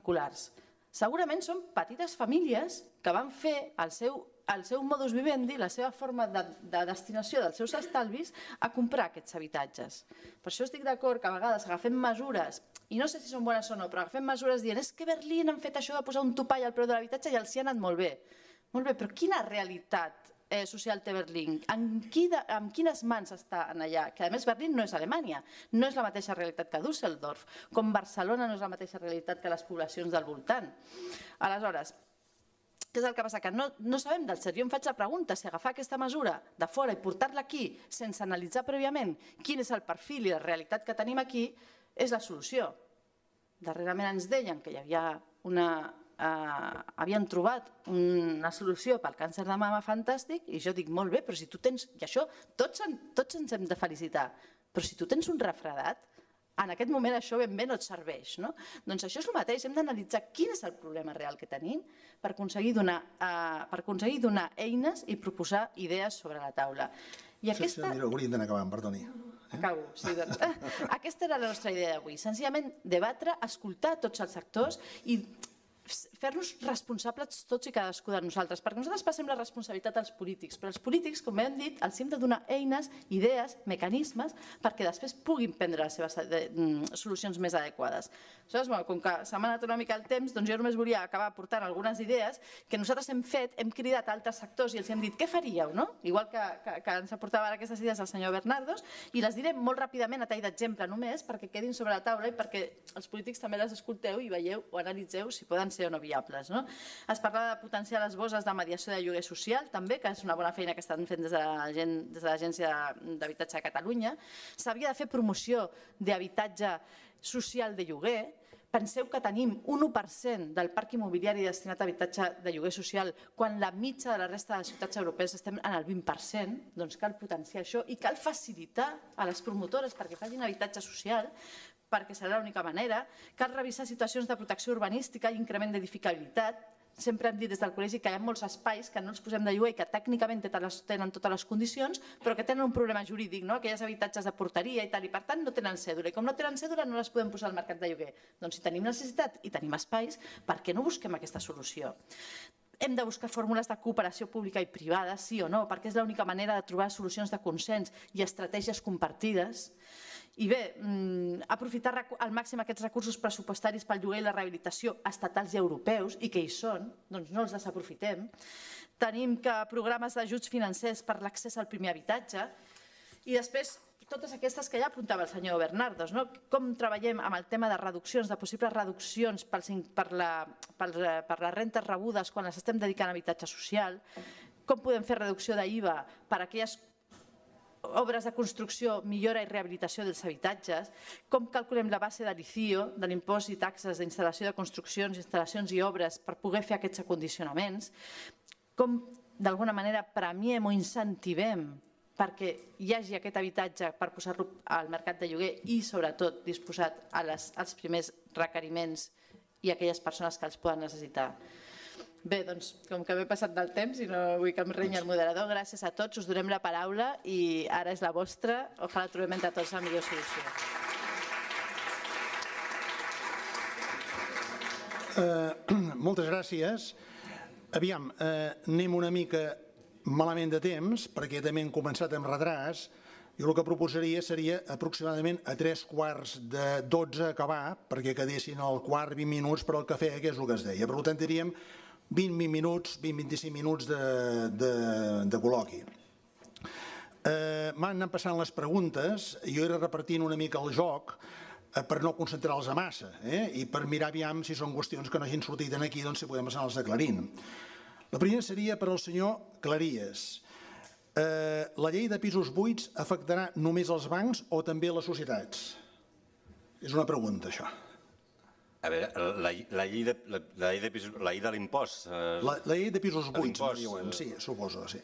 particulars. Segurament són petites famílies que van fer el seu modus vivendi, la seva forma de destinació dels seus estalvis a comprar aquests habitatges. Per això estic d'acord que a vegades agafem mesures, i no sé si són bones o no, però agafem mesures dient és que a Berlín han fet això de posar un topall al preu de l'habitatge i els hi ha anat molt bé. Molt bé, però quina realitat social té Berlín? Amb quines mans està allà? Que a més Berlín no és Alemanya, no és la mateixa realitat que Düsseldorf, com Barcelona no és la mateixa realitat que les poblacions del voltant. Aleshores, què és el que passa? Que no sabem del cert. Jo em faig la pregunta si agafar aquesta mesura de fora i portar-la aquí sense analitzar prèviament quin és el perfil i la realitat que tenim aquí és la solució. Darrerament ens deien que hi havia havien trobat una solució pel càncer de mama fantàstic i jo dic molt bé, però si tu tens, i això tots ens hem de felicitar, però si tu tens un refredat, en aquest moment això ben bé no et serveix. Doncs això és el mateix, hem d'analitzar quin és el problema real que tenim per aconseguir donar eines i proposar idees sobre la taula. Hauríem d'anar acabant, perdoni. Acabo, sí. Aquesta era la nostra idea d'avui, senzillament debatre, escoltar tots els sectors i fer-nos responsables tots i cadascú de nosaltres, perquè nosaltres passem la responsabilitat als polítics, però els polítics, com hem dit, els hem de donar eines, idees, mecanismes, perquè després puguin prendre les seves solucions més adequades. Aleshores, com que se m'ha anat una mica el temps, doncs jo només volia acabar portant algunes idees que nosaltres hem fet, hem cridat a altres sectors i els hem dit què faríeu, no? Igual que ens aportava aquestes idees el senyor Bernardos, i les diré molt ràpidament a tall d'exemple només, perquè quedin sobre la taula i perquè els polítics també les escolteu i veieu o analitzeu si poden ser o no viables. Es parla de potenciar les bosses de mediació de lloguer social, també, que és una bona feina que estan fent des de l'Agència d'Habitatge de Catalunya. S'havia de fer promoció d'habitatge social de lloguer. Penseu que tenim un 1% del parc immobiliari destinat a habitatge de lloguer social quan la mitja de la resta de ciutats europees estem en el 20%, doncs cal potenciar això i cal facilitar a les promotores perquè facin habitatge social, perquè serà l'única manera. Cal revisar situacions de protecció urbanística i increment d'edificabilitat. Sempre hem dit des del col·legi que hi ha molts espais que no els posem de lloguer i que tècnicament tenen totes les condicions, però que tenen un problema jurídic, aquells habitatges de porteria i tal, i per tant no tenen cèdula. I com no tenen cèdula no les podem posar al mercat de lloguer. Doncs si tenim necessitat i tenim espais, per què no busquem aquesta solució? Hem de buscar fórmules de cooperació pública i privada, sí o no, perquè és l'única manera de trobar solucions de consens i estratègies compartides. I bé, aprofitar al màxim aquests recursos pressupostaris pel lloguer i la rehabilitació estatals i europeus, i que hi són, doncs no els desaprofitem. Tenim programes d'ajuts financers per l'accés al primer habitatge i després totes aquestes que ja apuntava el senyor Bernardos, com treballem amb el tema de reduccions, de possibles reduccions per les rentes rebudes quan les estem dedicant a habitatge social, com podem fer reducció d'IVA per a aquelles obres de construcció, millora i rehabilitació dels habitatges, com calculem la base de l'ICIO, de l'impost i taxes d'instal·lació de construccions, instal·lacions i obres per poder fer aquests acondicionaments, com d'alguna manera premiem o incentivem perquè hi hagi aquest habitatge per posar-lo al mercat de lloguer i sobretot disposat als primers requeriments i a aquelles persones que els poden necessitar. Bé, doncs, com que m'he passat del temps i no vull que em renyi el moderador, gràcies a tots, us donem la paraula i ara és la vostra. Ojalà trobem entre tots la millor solució. Moltes gràcies. Aviam, anem una mica malament de temps, perquè també hem començat amb retràs. Jo el que proposaria seria aproximadament a 3:15 acabar, perquè quedessin al quart 20 minuts per al cafè, que és el que es deia. Per tant, diríem 20 minuts, 20-25 minuts de col·loqui. M'han anat passant les preguntes, jo era repartint una mica el joc per no concentrar-los a massa i per mirar aviam si són qüestions que no hagin sortit aquí, doncs si podem anar-los aclarint. La primera seria per al senyor Claries. La llei de pisos buits afectarà només els bancs o també les societats? És una pregunta, això. A veure, la llei de l'impost... La llei de pisos buits, sí, suposo, sí.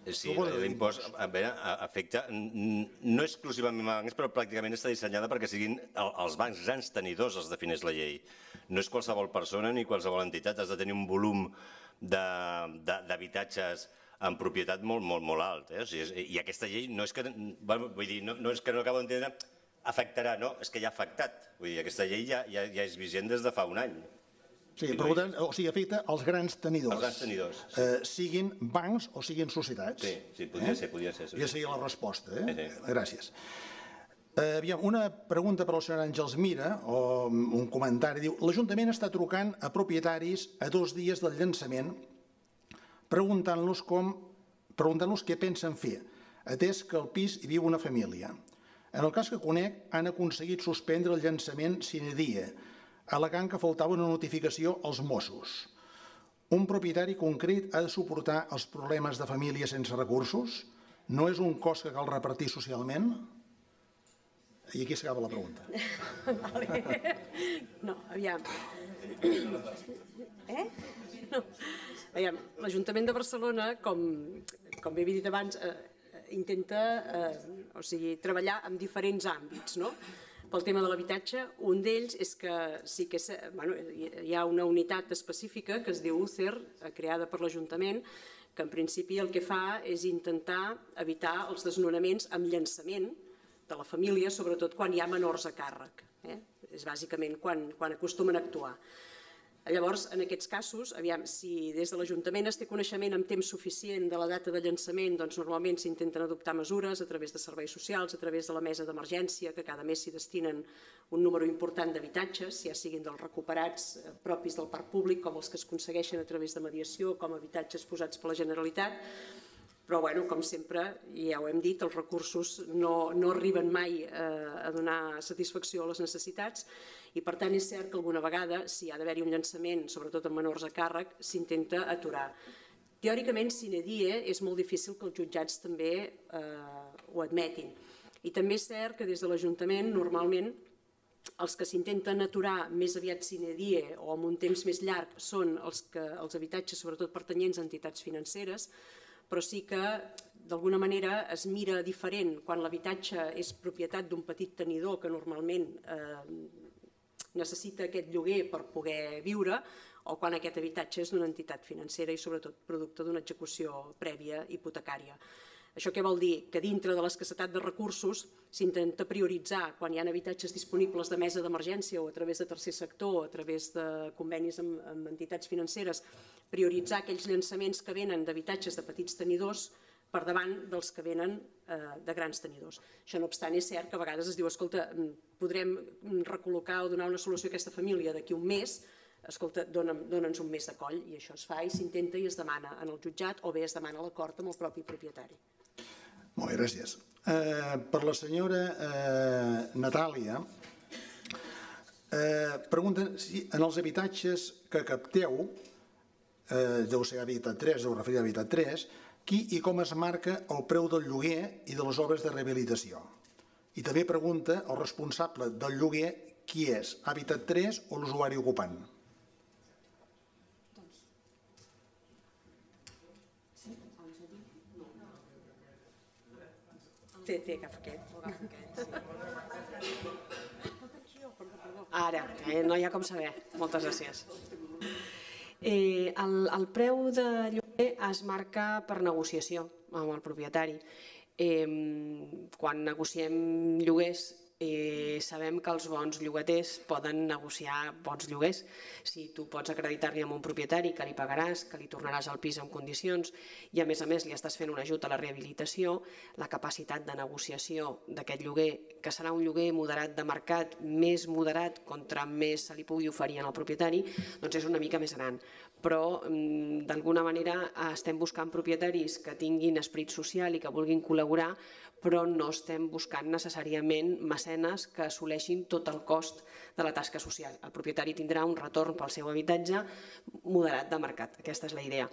Sí, l'impost afecta no exclusivament a bancs, però pràcticament està dissenyada perquè siguin els bancs grans tenidors, els defineix la llei. No és qualsevol persona ni qualsevol entitat, has de tenir un volum d'habitatges en propietat molt alt. I aquesta llei no és que... Vull dir, no és que no acabo d'entendre... Afectarà, no, és que ja ha afectat. Vull dir, aquesta llei ja és vigent des de fa un any. Sí, per tant, o sigui, afecta els grans tenidors. Els grans tenidors. Siguin bancs o siguin societats. Sí, podria ser. Ja seria la resposta, Sí. Gràcies. Aviam, una pregunta per al senyor Àngels Mira, o un comentari, diu: l'Ajuntament està trucant a propietaris a 2 dies del llançament preguntant-los què pensen fer, atès que al pis hi viu una família. En el cas que conec, han aconseguit suspendre el llançament sine die, al·legant que faltava una notificació als Mossos. Un propietari concret ha de suportar els problemes de família sense recursos? No és un cost que cal repartir socialment? I aquí s'acaba la pregunta. No, aviam. No. Aviam, l'Ajuntament de Barcelona, com bé he dit abans, intenta treballar en diferents àmbits, no? Pel tema de l'habitatge, un d'ells és que sí que hi ha una unitat específica que es diu UCER, creada per l'Ajuntament, que en principi el que fa és intentar evitar els desnonaments amb llançament de la família, sobretot quan hi ha menors a càrrec. És bàsicament quan acostumen a actuar. Llavors, en aquests casos, aviam, si des de l'Ajuntament es té coneixement amb temps suficient de la data de llançament, doncs normalment s'intenten adoptar mesures a través de serveis socials, a través de la mesa d'emergència, que cada mes s'hi destinen un número important d'habitatges, ja siguin dels recuperats propis del parc públic, com els que es aconsegueixen a través de mediació, com habitatges posats per la Generalitat. Però, com sempre, ja ho hem dit, els recursos no arriben mai a donar satisfacció a les necessitats i, per tant, és cert que alguna vegada, si ha d'haver-hi un llançament, sobretot amb menors a càrrec, s'intenta aturar. Teòricament, sine die, és molt difícil que els jutjats també ho admetin. I també és cert que des de l'Ajuntament, normalment, els que s'intenten aturar més aviat sine die o amb un temps més llarg són els habitatges, sobretot pertanyents a entitats financeres, però sí que d'alguna manera es mira diferent quan l'habitatge és propietat d'un petit tenidor que normalment necessita aquest lloguer per poder viure o quan aquest habitatge és d'una entitat financera i sobretot producte d'una execució prèvia hipotecària. Això què vol dir? Que dintre de l'escassetat de recursos s'intenta prioritzar quan hi ha habitatges disponibles de mesa d'emergència o a través de tercer sector o a través de convenis amb entitats financeres, prioritzar aquells llançaments que venen d'habitatges de petits tenidors per davant dels que venen de grans tenidors. Això no obstant, és cert que a vegades es diu, escolta, podrem recol·locar o donar una solució a aquesta família d'aquí un mes, escolta, dona'ns un mes de coll, i això es fa i s'intenta i es demana en el jutjat o bé es demana l'acord amb el propi propietari. Molt bé, gràcies. Per la senyora Natàlia, pregunten si en els habitatges que capteu, deu ser habitat 3, deu referir a habitat 3, qui i com es marca el preu del lloguer i de les obres de rehabilitació. I també pregunta el responsable del lloguer qui és, habitat 3 o l'usuari ocupant. Agafa aquest. Ara, no hi ha com saber. Moltes gràcies. El preu de lloguer es marca per negociació amb el propietari. Quan negociem lloguers sabem que els bons llogaters poden negociar bons lloguers. Si tu pots acreditar-li a un propietari que li pagaràs, que li tornaràs el pis en condicions i a més li estàs fent un ajut a la rehabilitació, la capacitat de negociació d'aquest lloguer, que serà un lloguer moderat de mercat, més moderat contra més se li pugui oferir al propietari, doncs és una mica més gran. Però d'alguna manera estem buscant propietaris que tinguin esperit social i que vulguin col·laborar, però no estem buscant necessàriament mecenes que assoleixin tot el cost de la tasca social. El propietari tindrà un retorn pel seu habitatge moderat de mercat. Aquesta és la idea.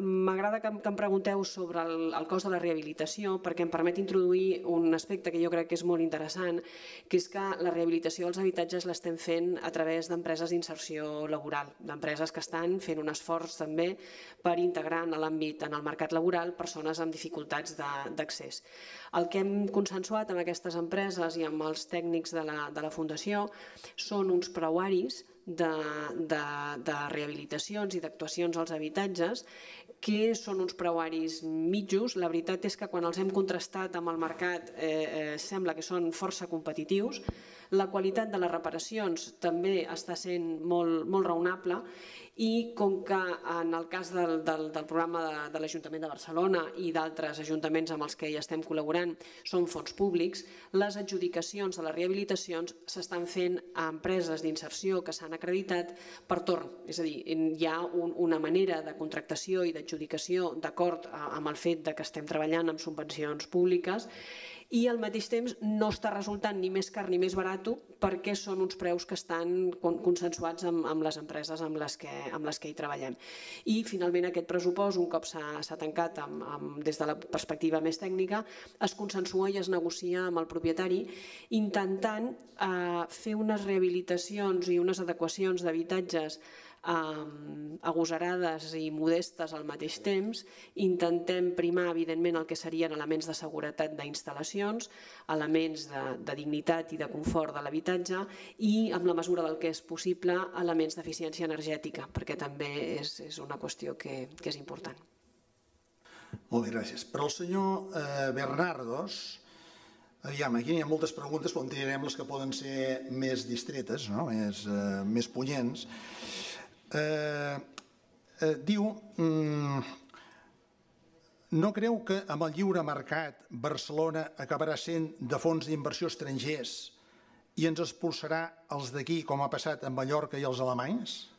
M'agrada que em pregunteu sobre el cost de la rehabilitació perquè em permet introduir un aspecte que jo crec que és molt interessant, que és que la rehabilitació dels habitatges l'estem fent a través d'empreses d'inserció laboral, d'empreses que estan fent un esforç també per integrar en l'àmbit, en el mercat laboral, persones amb dificultats d'accés. El que hem consensuat amb aquestes empreses i amb els tècnics de la Fundació són uns preuaris de rehabilitacions i d'actuacions als habitatges que són uns preuaris mitjos. La veritat és que quan els hem contrastat amb el mercat sembla que són força competitius. La qualitat de les reparacions també està sent molt raonable i com que en el cas del programa de l'Ajuntament de Barcelona i d'altres ajuntaments amb els que hi estem col·laborant són fons públics, les adjudicacions de les rehabilitacions s'estan fent a empreses d'inserció que s'han acreditat per torn. És a dir, hi ha una manera de contractació i d'adjudicació d'acord amb el fet que estem treballant amb subvencions públiques i al mateix temps no està resultant ni més car ni més barat perquè són uns preus que estan consensuats amb les empreses amb les que hi treballem. I finalment aquest pressupost, un cop s'ha tancat des de la perspectiva més tècnica, es consensua i es negocia amb el propietari intentant fer unes rehabilitacions i unes adequacions d'habitatges agosarades i modestes al mateix temps. Intentem primar, evidentment, el que serien elements de seguretat d'instal·lacions, elements de dignitat i de confort de l'habitatge i, en la mesura del que és possible, elements d'eficiència energètica, perquè també és una qüestió que és important. Molt bé, gràcies. Per al senyor Bernardos, aviam, aquí hi ha moltes preguntes, però en tirarem les que poden ser més distretes, més punyents. Diu, no creu que amb el lliure mercat Barcelona acabarà sent de fons d'inversió estrangers i ens expulsarà els d'aquí com ha passat amb Mallorca i els alemanys?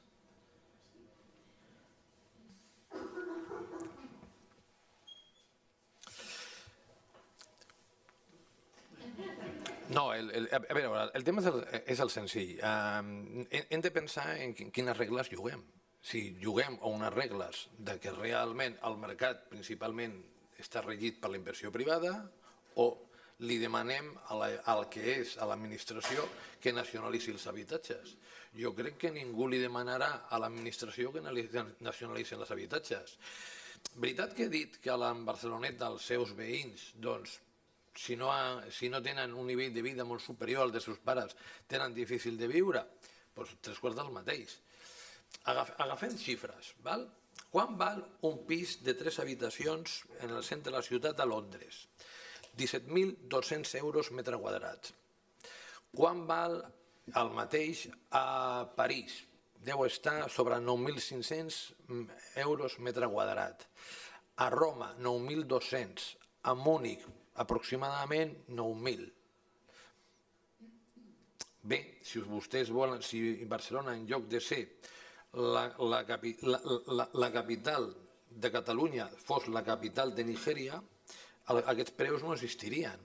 No, a veure, el tema és el senzill. Hem de pensar en quines regles juguem. Si juguem a unes regles de que realment el mercat principalment està regit per la inversió privada o li demanem al que és a l'administració que nacionalitzi els habitatges. Jo crec que ningú li demanarà a l'administració que nacionalitzi els habitatges. Veritat que he dit que a Barcelonet dels seus veïns, doncs, si no tenen un nivell de vida molt superior al dels seus pares, tenen difícil de viure, doncs 3/4 del mateix. Agafem xifres. Quan val un pis de 3 habitacions en el centre de la ciutat a Londres? 17.200 euros metre quadrat. Quan val el mateix a París? Deu estar sobre 9.500 euros metre quadrat. A Roma, 9.200. A Múnich, aproximadament 9.000. Bé, si vostès volen, si Barcelona, en lloc de ser la capital de Catalunya, fos la capital de Nigèria, aquests preus no existirien.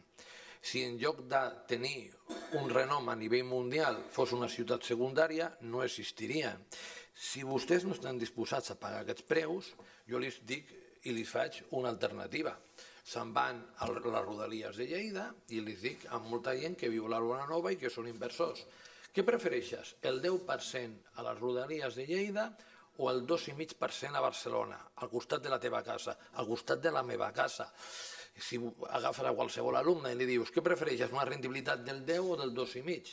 Si en lloc de tenir un renom a nivell mundial fos una ciutat secundària, no existirien. Si vostès no estan disposats a pagar aquests preus, jo els dic i els faig una alternativa. Se'n van a les Rodalies de Lleida i els dic a molta gent que viu a la Bonanova i que són inversors. Què prefereixes, el 10% a les Rodalies de Lleida o el 2,5% a Barcelona, al costat de la teva casa, al costat de la meva casa? Si agafes a qualsevol alumne i li dius què prefereixes, una rendibilitat del 10 o del 2,5?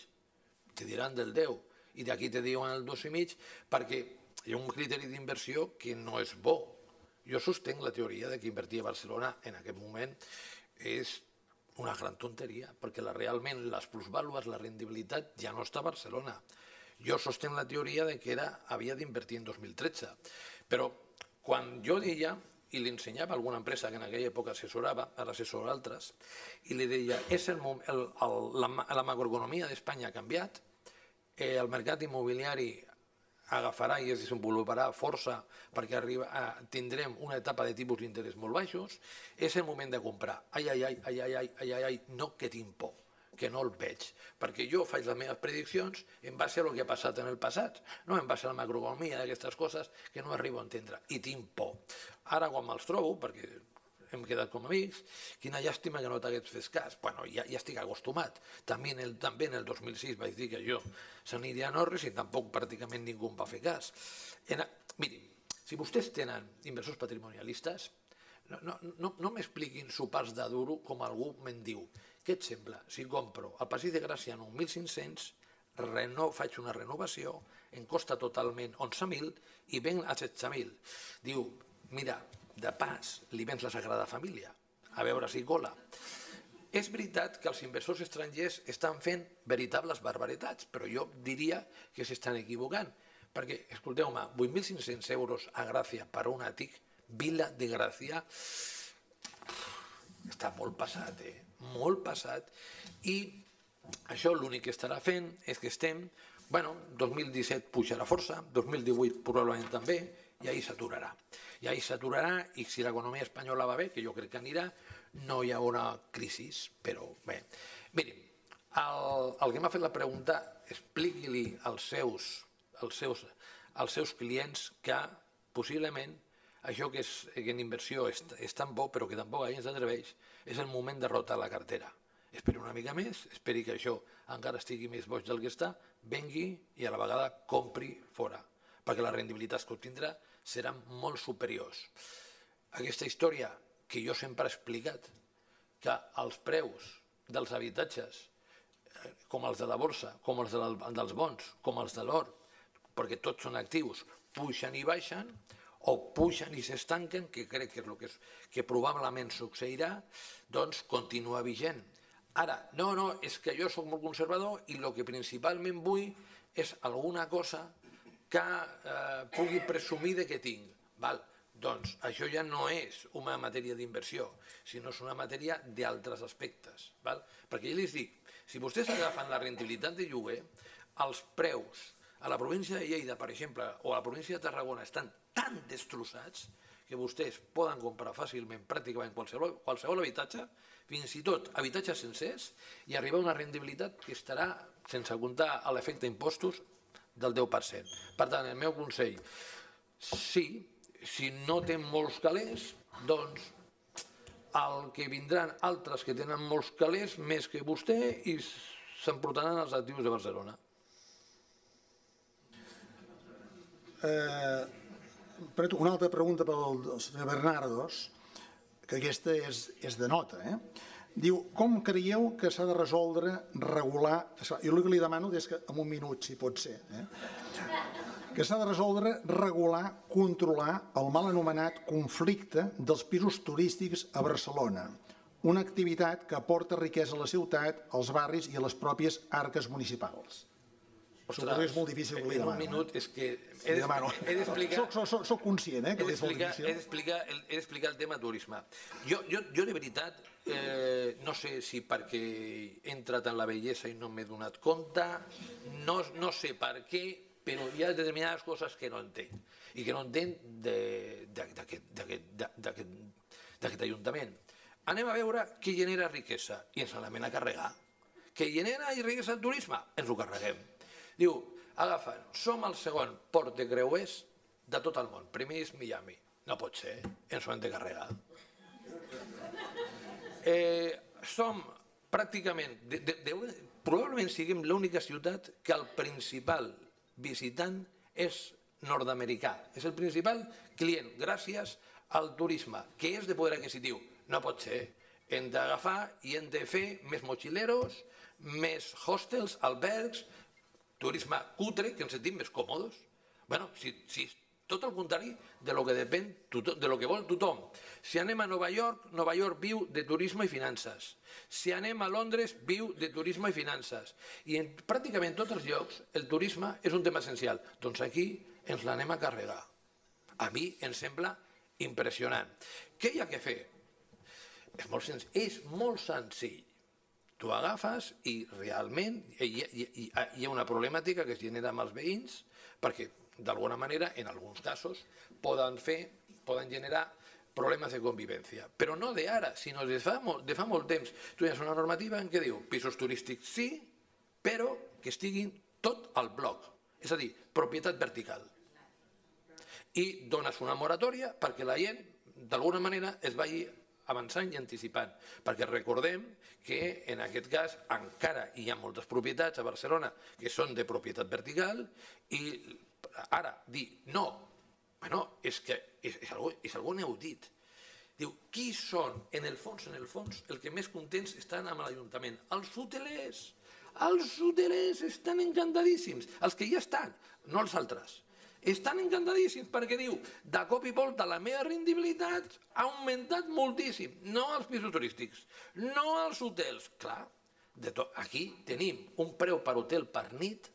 Te diran del 10 i d'aquí te diuen el 2,5 perquè hi ha un criteri d'inversió que no és bo. Jo sostenc la teoria que invertir a Barcelona en aquest moment és una gran tonteria, perquè realment les plusvàlues, la rendibilitat ja no està a Barcelona. Jo sostenc la teoria que havia d'invertir en 2013, però quan jo deia, i li ensenyava a alguna empresa que en aquella època assessorava, ara assessora altres, i li deia, la macroeconomia d'Espanya ha canviat, el mercat immobiliari agafarà i es desenvoluparà força perquè tindrem una etapa de tipus d'interès molt baixos, és el moment de comprar. Ai, no que tinc por, que no el veig, perquè jo faig les meves prediccions en base a el que ha passat en el passat, no en base a la macroeconomia d'aquestes coses que no arribo a entendre, i tinc por. Ara quan me'ls trobo, perquè hem quedat com amics, quina llàstima que no t'hagués fet cas. Bueno, ja estic acostumat. També en el 2006 vaig dir que jo s'aniria a Norris i tampoc pràcticament ningú em va fer cas. Miri, si vostès tenen inversors patrimonialistes, no m'expliquin sopars de duro com algú me'n diu. Què et sembla si compro al Passeig de Gràcia 9.500, faig una renovació, em costa totalment 11.000 i venc a 16.000? Diu, mira, de pas, li vens la Sagrada Família, a veure si cola. És veritat que els inversors estrangers estan fent veritables barbaritats, però jo diria que s'estan equivocant, perquè, escolteu-me, 8.500 euros a Gràcia per un àtic, Vila de Gràcia, està molt passat, molt passat, i això l'únic que estarà fent és que estem, 2017 pujarà força, 2018 probablement també, i ahir s'aturarà. I ahir s'aturarà, i si l'economia espanyola va bé, que jo crec que anirà, no hi haurà crisi, però bé. Mirin, el que m'ha fet la pregunta, expliqui-li als seus clients que possiblement això que en inversió és tan bo, però que tampoc la gent s'atreveix, és el moment de rotar la cartera. Esperi una mica més, esperi que això encara estigui més boig del que està, vengui i a la vegada compri fora, perquè les rendibilitats que obtindrà seran molt superiors. Aquesta història que jo sempre he explicat, que els preus dels habitatges, com els de la borsa, com els dels bons, com els de l'or, perquè tots són actius, pugen i baixen, o pugen i s'estanquen, que crec que és el que probablement succeirà, doncs continua vigent. Ara, no, és que jo soc molt conservador i el que principalment vull és alguna cosa que pugui presumir de que tinc. Doncs això ja no és una matèria d'inversió, sinó és una matèria d'altres aspectes. Perquè ja els dic, si vostès agafen la rendibilitat de lloguer, els preus a la província de Lleida, per exemple, o a la província de Tarragona estan tan destrossats que vostès poden comprar fàcilment pràcticament qualsevol habitatge, fins i tot habitatges sencers, i arribar a una rendibilitat que estarà, sense comptar l'efecte impostos, del 10%. Per tant, el meu consell, sí, si no té molts calés, doncs el que vindran altres que tenen molts calés més que vostè i s'emportaran els actius de Barcelona. Una altra pregunta pel senyor Bernardos, que aquesta és de nota. Diu, com creieu que s'ha de resoldre, regular... Jo el que li demano és que en un minut, si pot ser, que s'ha de resoldre, regular, controlar el mal anomenat conflicte dels pisos turístics a Barcelona, una activitat que aporta riquesa a la ciutat, als barris i a les pròpies arques municipals. Suposo que és molt difícil que li demano. En un minut és que he d'explicar... Soc conscient que és molt difícil. He d'explicar el tema turisme. Jo de veritat, no sé si perquè he entrat en la bellesa i no m'he donat compte, no sé per què, però hi ha determinades coses que no entenc. I que no entenc d'aquest Ajuntament. Anem a veure què genera riquesa i ens l'anem a carregar. Què genera riquesa el turisme? Ens ho carreguem. Diu, agafen, som el segon port de creuers de tot el món. Primer és Miami. No pot ser, ens ho hem de carregar. Som pràcticament, probablement siguem l'única ciutat que el principal visitant és nord-americà. És el principal client gràcies al turisme, que és de poder adquisitiu. No pot ser. Hem d'agafar i hem de fer més mochileros, més hostels, albergs, turisme cutre, que ens sentim més còmodes. Si tot el contrari de lo que depèn, de lo que vol tothom. Si anem a Nova York, Nova York viu de turisme i finances. Si anem a Londres, viu de turisme i finances. I en pràcticament tots els llocs el turisme és un tema essencial. Doncs aquí ens l'anem a carregar. A mi em sembla impressionant. Què hi ha que fer? És molt senzill. Tu agafes i realment hi ha una problemàtica que es genera amb els veïns perquè, d'alguna manera, en alguns casos, poden generar problemes de convivència. Però no d'ara, sinó de fa molt temps. Tu tens una normativa en què diu pisos turístics sí, però que estiguin tot al bloc, és a dir, propietat vertical. I dones una moratòria perquè la gent, d'alguna manera, es vagi avançant i anticipant, perquè recordem que en aquest cas encara hi ha moltes propietats a Barcelona que són de propietat vertical i ara dir no, és que és algo inaudit. Diu, qui són? En el fons, el que més contents estan amb l'Ajuntament? Els hotelers. Els hotelers estan encantadíssims, els que ja estan, no els altres. estan encantadíssims perquè diu, de cop i volta la meva rendibilitat ha augmentat moltíssim, no als pisos turístics, no als hotels. Clar, aquí tenim un preu per hotel per nit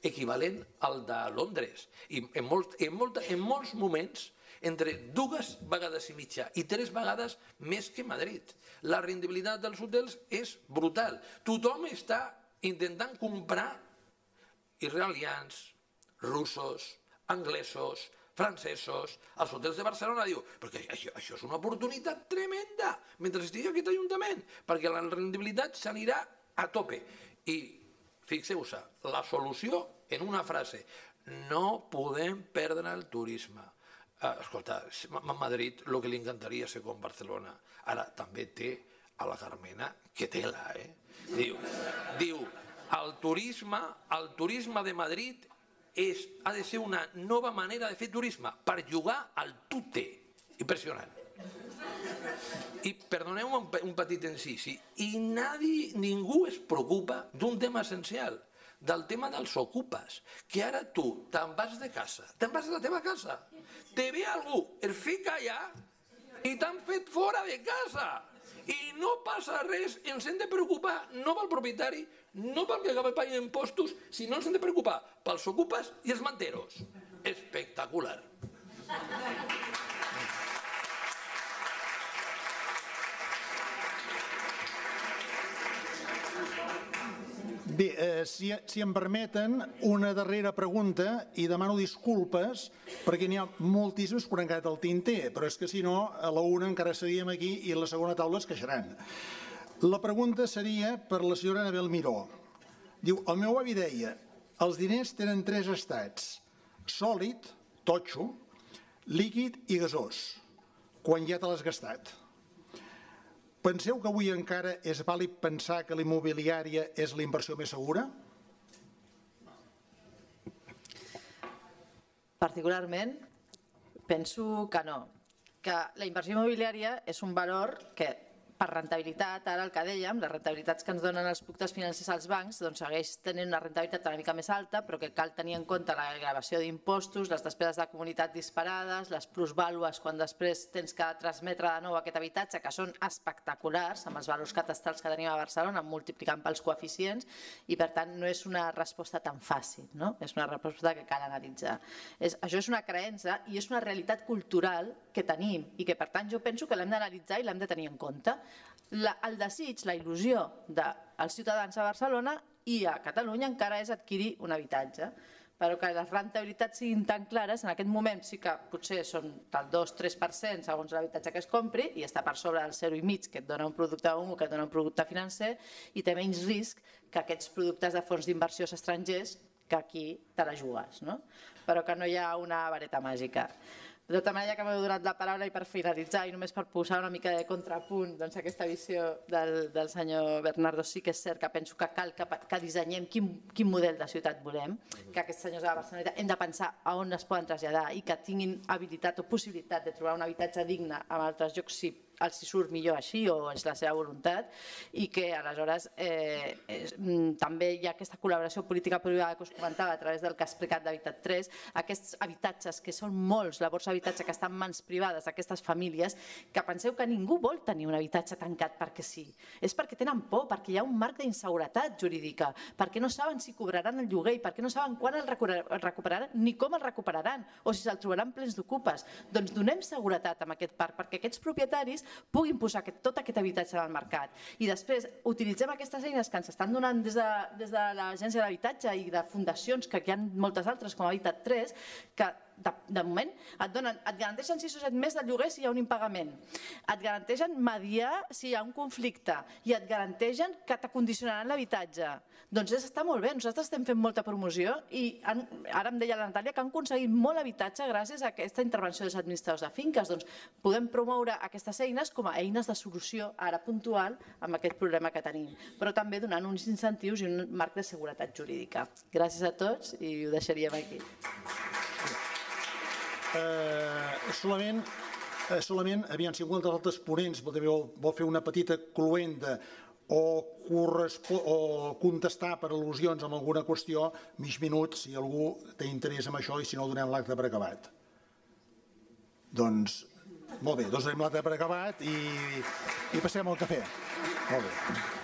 equivalent al de Londres i en molts moments entre 2 vegades i mitja i 3 vegades més que Madrid. La rendibilitat dels hotels és brutal. Tothom està intentant comprar israelians, russos, anglesos, francesos, als hotels de Barcelona, diu, perquè això és una oportunitat tremenda mentre estigui aquest ajuntament, perquè la rendibilitat s'anirà a tope. I fixeu-se, la solució en una frase, no podem perdre el turisme. Escolta, a Madrid el que li encantaria ser com Barcelona. Ara també té a la Carmena que tela, Diu, el turisme de Madrid ha de ser una nova manera de fer turisme per jugar al tute. Impressionant. I perdoneu-me un petit incisi, i ningú es preocupa d'un tema essencial, del tema dels ocupes, que ara tu te'n vas de casa, te'n vas de la teva casa, te ve algú, es fica allà i t'han fet fora de casa. I no passa res, ens hem de preocupar no pel propietari, no pel que acaba pagant impostos, sinó ens hem de preocupar pels ocupes i els manteros. Espectacular. Bé, si em permeten, una darrera pregunta, i demano disculpes perquè n'hi ha moltíssims que han quedat al tinter, però és que si no, a la una encara seríem aquí i a la segona taula es queixaran. La pregunta seria per la senyora Anabel Miró. Diu, el meu avi deia, els diners tenen 3 estats, sòlid, totxo, líquid i gasós, quan ja te l'has gastat. Penseu que avui encara és vàlid pensar que l'immobiliària és la inversió més segura? Particularment, penso que no, que la inversió immobiliària és un valor que, per rentabilitat, ara el que dèiem, les rentabilitats que ens donen els productes financers als bancs, doncs segueix tenint una rentabilitat una mica més alta, però que cal tenir en compte la gravació d'impostos, les despeses de comunitat disparades, les plusvàlues quan després tens que transmetre de nou aquest habitatge, que són espectaculars, amb els valors catastrals que tenim a Barcelona, multiplicant pels coeficients, i per tant no és una resposta tan fàcil, no? És una resposta que cal analitzar. Això és una creença i és una realitat cultural que tenim i que per tant jo penso que l'hem d'analitzar i l'hem de tenir en compte. El desig, la il·lusió dels ciutadans a Barcelona i a Catalunya encara és adquirir un habitatge, però que les rentabilitats siguin tan clares, en aquest moment sí que potser són del 2-3% segons l'habitatge que es compri i està per sobre del 0,5% que et dona un producte que et dona un producte financer i té menys risc que aquests productes de fons d'inversió estrangers que aquí te la jugues, no? Però que no hi ha una vareta màgica. De tota manera, que m'heu donat la paraula i per finalitzar i només per posar una mica de contrapunt aquesta visió del senyor Bernardo, sí que és cert que penso que cal que dissenyem quin model de ciutat volem, que aquests senyors de la Barcelona hem de pensar a on es poden traslladar i que tinguin habilitat o possibilitat de trobar un habitatge digne en altres llocs si els surt millor així o és la seva voluntat i que aleshores també hi ha aquesta col·laboració política-privada que us comentava a través del que ha explicat d'Habitat 3, aquests habitatges que són molts, la borsa d'habitatge que està en mans privades d'aquestes famílies, que penseu que ningú vol tenir un habitatge tancat perquè sí, és perquè tenen por, perquè hi ha un marc d'inseguretat jurídica, perquè no saben si cobraran el lloguer i perquè no saben quan el recuperaran ni com el recuperaran o si se'l trobaran plens d'ocupes. Doncs donem seguretat amb aquest parc perquè aquests propietaris puguin posar tot aquest habitatge en el mercat. I després utilitzem aquestes eines que ens estan donant des de l'Agència de l'Habitatge i de fundacions, que hi ha moltes altres com Habitat 3, que de moment et garanteixen 6 o 7 mesos de lloguer si hi ha un impagament, et garanteixen mediar si hi ha un conflicte i et garanteixen que t'acondicionaran l'habitatge. Doncs està molt bé, nosaltres estem fent molta promoció i ara em deia la Natàlia que han aconseguit molt habitatge gràcies a aquesta intervenció dels administradors de finques. Doncs podem promoure aquestes eines com a eines de solució ara puntual amb aquest problema que tenim, però també donant uns incentius i un marc de seguretat jurídica. Gràcies a tots i ho deixaríem aquí. Solament, aviam, si algun dels altres ponents vol fer una petita cluenda o contestar per al·lusions amb alguna qüestió, mig minut, si algú té interès en això, i si no, donem l'acte per acabat. Doncs, molt bé, donem l'acte per acabat i passem al cafè. Molt bé.